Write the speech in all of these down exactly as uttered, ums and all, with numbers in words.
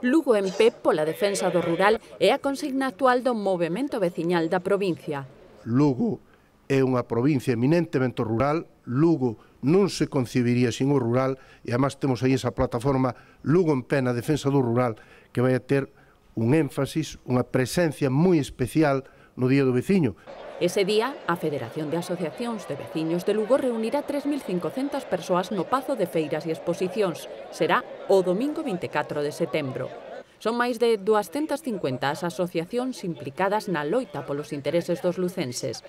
Lugo en pé pola defensa do rural é a consigna actual do movemento veciñal da provincia. Lugo é unha provincia eminentemente rural, Lugo non se concibiría sin o rural e además temos aí esa plataforma Lugo en pé na defensa do rural que vai a ter un énfasis, unha presencia moi especial no Día do Veciño. Ese día, a Federación de Asociacións de Veciños de Lugo reunirá tres mil cincocentas persoas no Pazo de Feiras e Exposicións. Será o domingo vinte e catro de setembro. Son máis de duascentas cincuenta as asociacións implicadas na loita polos intereses dos lucenses.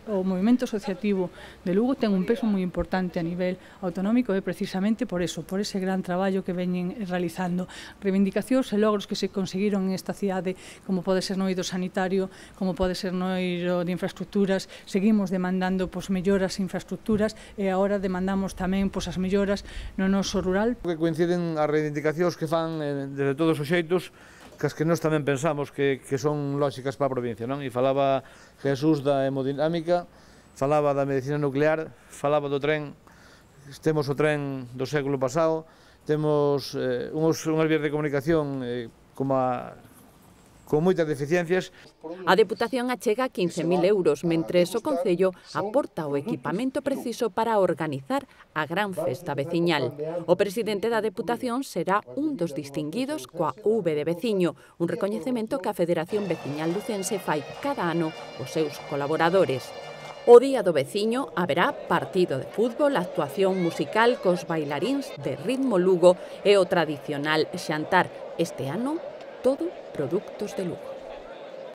O movimento asociativo de Lugo ten un peso moi importante a nivel autonómico e precisamente por eso, por ese gran traballo que veñen realizando. Reivindicacións e logros que se conseguiron en esta cidade, como pode ser no eido sanitario, como pode ser no eido de infraestructuras, seguimos demandando pois, melloras infraestructuras e agora demandamos tamén pois, as melloras no noso rural. Que coinciden as reivindicacións que fan eh, desde todos os xeitos, que as que nós tamén pensamos que, que son lóxicas para a provincia, non? E falaba Jesús da hemodinámica, falaba da medicina nuclear, falaba do tren, temos o tren do século pasado, temos eh, uns, unhas vías de comunicación eh, como a con moitas deficiencias. A Deputación achega quince mil euros, mentres o Concello aporta o equipamento preciso para organizar a gran festa veciñal. O presidente da Deputación será un dos distinguidos coa V de veciño, un recoñecemento que a Federación Veciñal Lucense fai cada ano aos seus colaboradores. O Día do Veciño haberá partido de fútbol, actuación musical cos bailaríns de Ritmo Lugo e o tradicional xantar. Este ano, todo produtos de Lugo.